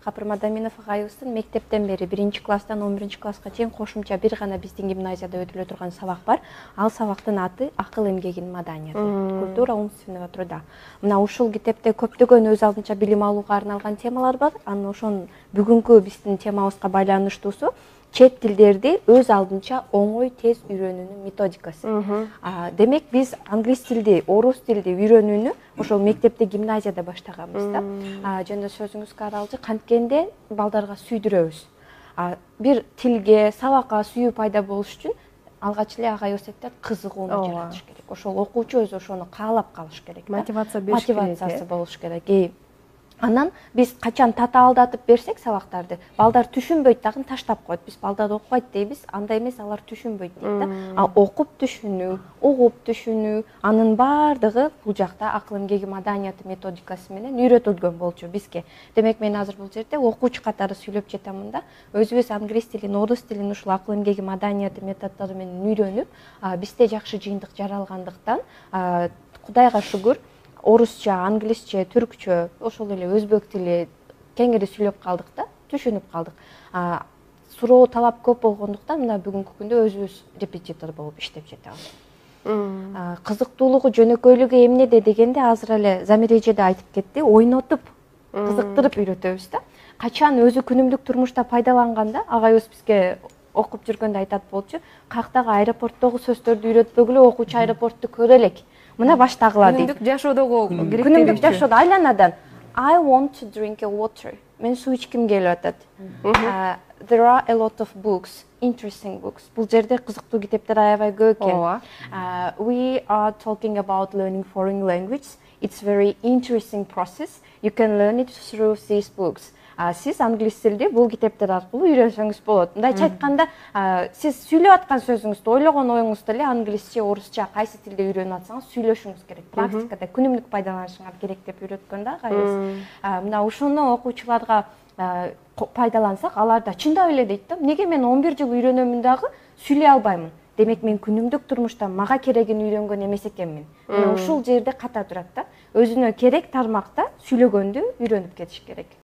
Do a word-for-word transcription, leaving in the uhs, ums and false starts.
Капыр Мадаминов агайыбыздын мектептен бери биринчи класстан он биринчи класска чейин кошумча бир гана биздин гимназияда өтүлө турган сабак бар. Ал сабактын аты акыл эмгегинин маданияты, культура умственного труда. Мына ушул китепте көптөгөн өз алдынча билим алууга арналган темалар бар. Анан ошонун бүгүнкү биздин темабызга байланыштуусу чет тилдерди өз алдынча оңой тез үйрөнүүнүн методикасы. Демек биз англис тилди, орус тилди үйрөнүүнү ошол мектепте, гимназияда баштаганбыз да. Жана сөзүңүзгө аралжы канткенде балдарга сүйдүрөбүз. Бир тилге, сабакка сүйүү пайда болуш үчүн алгач эле агайыбыз айтат, кызыгууну жаратыш керек. Ошол окуучу өзү ошону каалап калыш керек. Мотивация бериш керек. Мотивациясы болуш керек. Анан биз качан татаалдатып берсек сабактарды, балдар түшүнбөйт дагы таштап коет. Биз балдар окубайт дейбиз, андай эмес, алар түшүнбөйт дейт да. А окуп түшүнүү, угуп түшүнүү, анын баардыгы бул жакта акыл эмгеги маданияты методикасы менен үйрөтүлгөн болчу бизге. Демек мен азыр бул жерде окуучу катары сүйлөп жатамын да. Өзүбүз англис тилин, орус тилин ушул акыл эмгеги маданияты методдору менен үйрөнүп, бизде жакшы жыйынтык жаралгандыктан Кудайга шүгүр, орусча, англисче, түркчө, ошол эле өзбек тили кеңири сүйлөп калдык да, түшүнүп калдык. Суроо талап көп болгондуктан мына бүгүнкү күндө өзүбүз репетитор болуп иштеп жатабыз. Кызыктуулугу, жөнөкөйлүгү эмнеде дегенде азыр эле Замир эже да айтып кетти, ойнотуп, кызыктырып үйрөтөбүз да. Качан өзү күнүмдүк турмушта пайдаланганда, агайыбыз бизге окуп жүргөндө айтат болчу, каяктагы аэропорттогу сөздөрдү үйрөтпөгүлө, окуучу аэропортту көрө элек. Мына баштагыла дейт. Күнүмдүк жашоодогу керек. Күнүмдүк жашоодо айланадан I want to drink a water. Мен суу ичким келип атат. There are a lot of books, interesting books. Бул жерде кызыктуу китептер аябай көп экен. We are talking about learning foreign language. It's very interesting process. You can learn it through these books. Сиз англис тилди бул китептер аркылуу үйрөнсөңүз болот. Мындайча айтканда, сиз сүйлөп аткан сөзүңүздү, ойлогон оюңузду эле англисче, орусча, кайсы тилде үйрөнүп атсаңыз сүйлөшүңүз керек. Практикада күнүмдүк пайдаланышыңар керек деп үйрөткөн да агайыбыз. Мына ушуну окуучуларга пайдалансак, алар да чындап эле дейт да. Неге мен он бир жыл үйрөнөмүн дагы сүйлөй албаймын? Демек мен күнүмдүк турмушта мага керегин үйрөнгөн эмес экенмин. Мына ушул жерде ката турат да. Өзүнө керек тармакта сүйлөгөндү үйрөнүп кетиш керек.